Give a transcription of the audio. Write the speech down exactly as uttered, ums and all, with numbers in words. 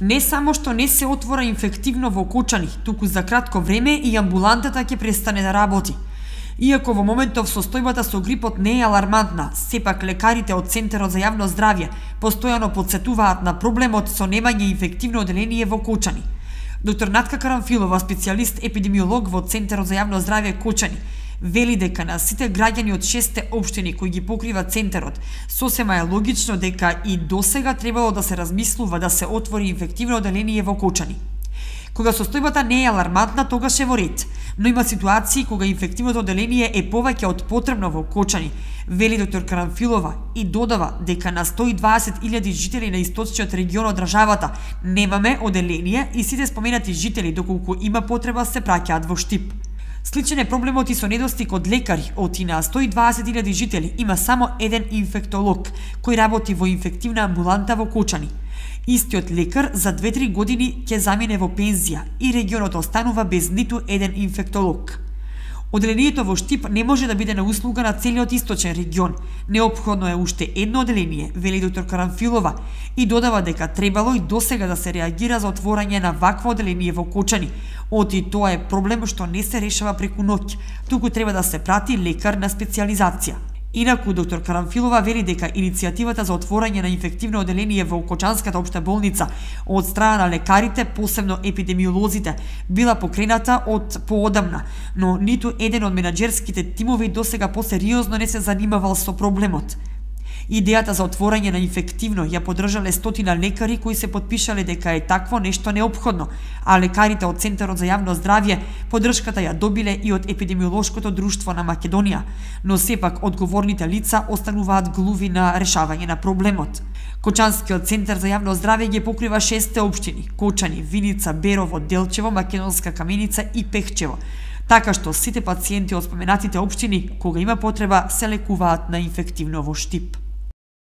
Не само што не се отвора инфективно во Кочани, туку за кратко време и амбулантата ќе престане да работи. Иако во моментов состојбата со грипот не е алармантна, сепак лекарите од Центарот за јавно здравје постојано потсетуваат на проблемот со немање инфективно оделение во Кочани. Доктор Натка Карамфилова, специјалист епидемиолог во Центарот за јавно здравје Кочани, вели дека на сите граѓани од шесте општини кои ги покрива Центарот, сосема е логично дека и досега требало да се размислува да се отвори инфективно оделение во Кочани. Кога состојбата не е алармантна, тогаш е во ред, но има ситуации кога инфективното оделение е повеќе од потребно во Кочани, вели доктор Карамфилова и додава дека на сто и дваесет илјади жители на источниот регион од државата немаме оделение и сите споменати жители, доколку има потреба, се праќаат во Штип. Сличен е проблемот и со недостиг од лекари. Од и на сто и дваесет илјади жители има само еден инфектолог кој работи во инфективна амбуланта во Кочани. Истиот лекар за две-три години ќе замине во пензија и регионот останува без ниту еден инфектолог. Оделението во Штип не може да биде на услуга на целиот источен регион. Неопходно е уште едно оделение, вели доктор Карамфилова, и додава дека требало и досега да се реагира за отворање на вакво оделение во Кочани. Оти тоа е проблем што не се решава преку ноќ, туку треба да се прати лекар на специјализација. Инаку, доктор Карамфилова вели дека иницијативата за отворање на инфективно оделение во Кочанската општа болница од страна на лекарите, посебно епидемиолозите, била покрената од поодамна, но ниту еден од менаџерските тимови досега посериозно не се занимавал со проблемот. Идејата за отворање на инфективно ја поддржале стотина лекари кои се потпишале дека е такво нешто неопходно, а лекарите од Центарот за јавно здравје поддршката ја добиле и од Епидемиолошкото друштво на Македонија, но сепак одговорните лица остануваат глуви на решавање на проблемот. Кочанскиот Центар за јавно здравје ги покрива шесте општини: Кочани, Виница, Берово, Делчево, Македонска Каменица и Пехчево. Така што сите пациенти од споменатите општини, кога има потреба, се лекуваат на инфективно во Штип.